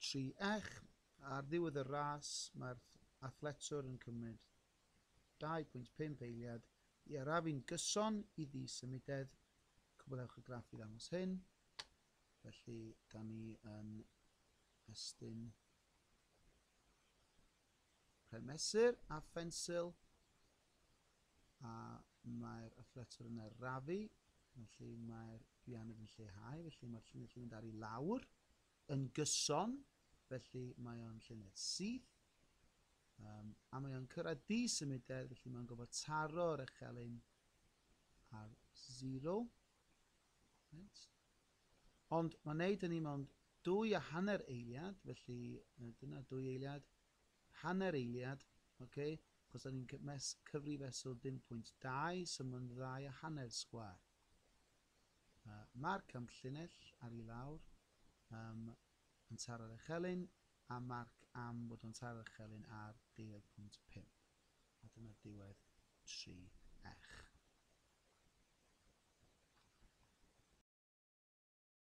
3 ech. Ar ddiwedd y ras, mae'r athletwr yn cymryd 2.5 eiliad i arafu'n gyson i ddisymudedd. Cwblhewch y graff i ddangos hyn. Felly, da ni yn estyn pren mesur a phensil a mae'r athletwr yn arafu, felly mae'r ddianedd yn lleihau, felly mae'r llinell yn mynd ar i lawr yn gyson, felly mae o'n llinell syth, a mae o'n cyrraedd disymudedd, felly mae'n gofod taro'r echelin ar 0. Right. Ond mae'n neud hynny mewn 2.5 eiliad, felly dyna 2 eiliad, hanner eiliad, okay, achos da ni'n cyfri fesul 0.2, so mae'n 2.5 sgwâr. Marc am llinell ar i lawr, yn taro'r echelin, a marc am bod o'n taro'r echelin ar 12.5. A dyna diwedd 3.